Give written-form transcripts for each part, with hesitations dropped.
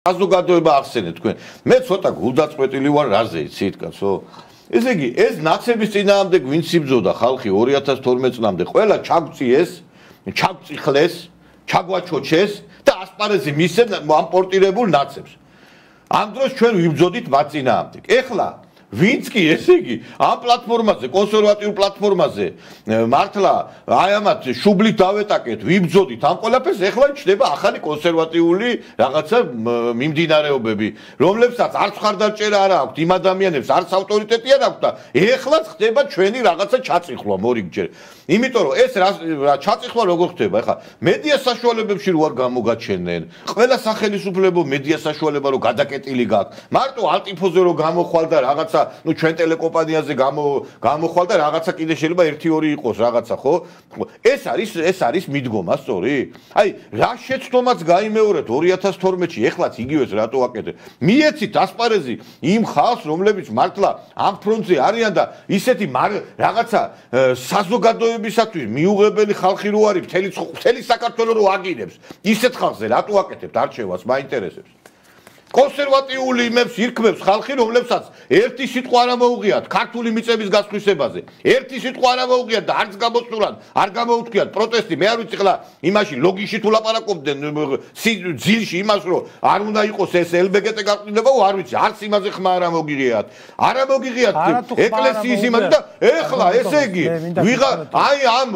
საზოგადოება ახსენეთ თქვენ. მე ცოტა გულდაწყვეტილი ვარ რაზე იცით კაცო. ესე იგი, ეს ნაცების წინააღმდეგ ვინც იბრძოდა ხალხი 2012 წლამდე, ყველა ჩაგწიეს, ჩაგწიხლეს, ჩაგვაჩოჩეს და ასპარეზი მისცემ ამ პორტირებულ ნაცებს. ამ დროს ჩვენ ვიბრძოდით მათ წინააღმდეგ. ეხლა ვინც კი ესე იგი ამ პლატფორმაზე, კონსერვატიულ პლატფორმაზე მართლა აი ამათ შუბლით დავეტაკეთ, ვიბრძოდით ამ ყველაფერს, ეხლა ჩნდება ახალი კონსერვატიული რაღაცა მიმდინარეობები, რომლებსაც არც ხარდაჭერა არ აქვს, იმ ადამიანებს არც ავტორიტეტი არ აქვს და ეხლაც ხდება ჩვენი რაღაცა ჩაწიხვლა მორიგჯერ. იმიტომ რომ ეს ჩაწიხვლა როგორ ხდება? ეხლა მედია საშუალებებში რო არ გამოგაჩენენ, ყველა სახელმწიფო მედია საშუალება რო გადაკეტილი გაქვს, მარტო ალტიფოზე რო გამოხვალ და რაღაცა ნუ ჩვენ ტელეკომპანიაზე გამოხვალ და რაღაცა კიდე შეიძლება 1-2 იყოს რაღაცა, ხო? ეს არის მიდგომა, სწორი? აი, რა შეცდომაც გაიმეორეთ 2012-ში, ეხლაც იგივეს რატო აკეთეთ? მიეცით ასპარეზი იმ ხალხს, რომლებიც მართლა ამ ფრონტზე არიან და ისეთი რაღაცა საზოგადოებისათვის მიუღებელი ხალხი რო არის, მთელი საქართველო რო აგინებს, ისეთ ხალხზე რატო აკეთებთ არჩევას, მაინტერესებს? კონსერვატიული იმებს ირქმევს ხალხი, რომლებსაც ერთი სიტყვა არ მოუღიათ ქართული მიწების გასხვისებაზე. ერთი სიტყვა არ მოუღიათ და არც გამოსულან, არ გამოუთქიათ პროტესტი. მე არ ვიცი ხლა იმაში ლოგიში თუ ლაპარაკობდნენ ძილში იმას, რომ არ უნდა იყოს ეს LGBT გაყრილება, არ ვიცი, არც იმაზე ხმა არ მოგიღიათ. არ მოგიღიათ ეკლესიის იმაზე და ეხლა ესე იგი აი ამ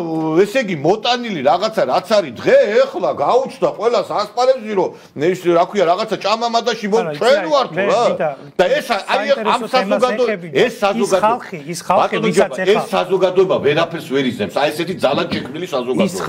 ესე იგი მოტანილი რაღაცა რაც არის დღე, ეხლა გაუჩნდა ყველას ასპარეზი, რომ ეს რა ქვია რაღაცა ჭამამადაში ჩვენ ვართ რა და ეს აი ამ საზოგადოება ეს საზოგადოება ვერაფერს ვერ იზნებს აი ესეთი ძალად შექმნილი საზოგადოება